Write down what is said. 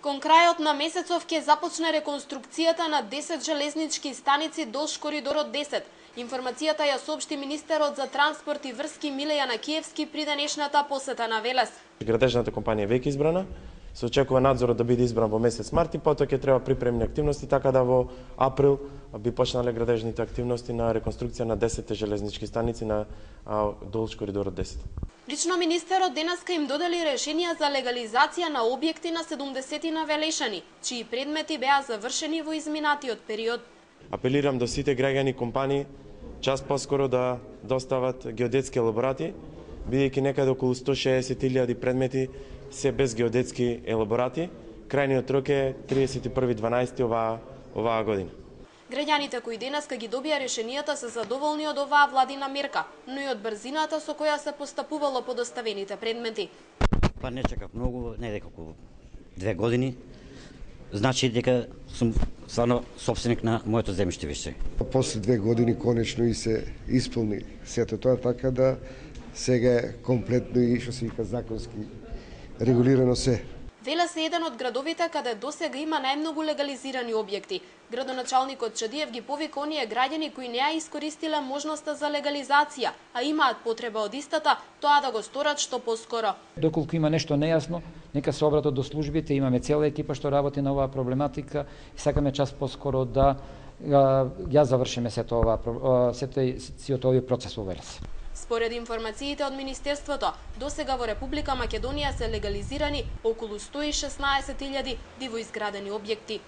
Кон крајот на месецов ќе започне реконструкцијата на 10 железнички станици долж коридорот 10. Информацијата ја соопшти министерот за транспорт и врски Миле Јанакиевски при денешната посета на Велес. Градежната компанија веќе избрана, се очекува надзорот да биде избран во месец март и потоа ќе треба припремни активности, така да во април би почнале градежните активности на реконструкција на 10 железнички станици на долж коридорот 10. Лично министерот денеска им додели решенија за легализација на објекти на 70 на Велешани, чии предмети беа завршени во изминатиот период. Апелирам до сите граѓани и компании час поскоро да достават геодетски елаборати, бидејќи некаде околу 160.000 предмети се без геодетски елаборати. Крајниот рок е 31.12. оваа година. Граѓаните кои денеска ги добија решенијата се задоволни од оваа владина мерка, но и од брзината со која се постапувало по доставените предмети. Па не чекав многу, не дека околу 2 години. Значи дека сум стварно собственик на моето земјиште више. После 2 години конечно и се исполни сето тоа, така да сега е комплетно и што се вика законски регулирано се. Велес е еден од градовите каде досега има најмногу легализирани објекти. Градоначалникот Чадиев ги повика оние граѓани кои не ја искористиле можноста за легализација, а имаат потреба од истата, тоа да го сторат што поскоро. Доколку има нешто нејасно, нека се обратат до службите, имаме цела екипа што работи на оваа проблематика и сакаме час поскоро да ја завршиме сето овој процес во Велес. Според информациите од Министерството, досега во Република Македонија се легализирани околу 116.000 дивоизградени објекти.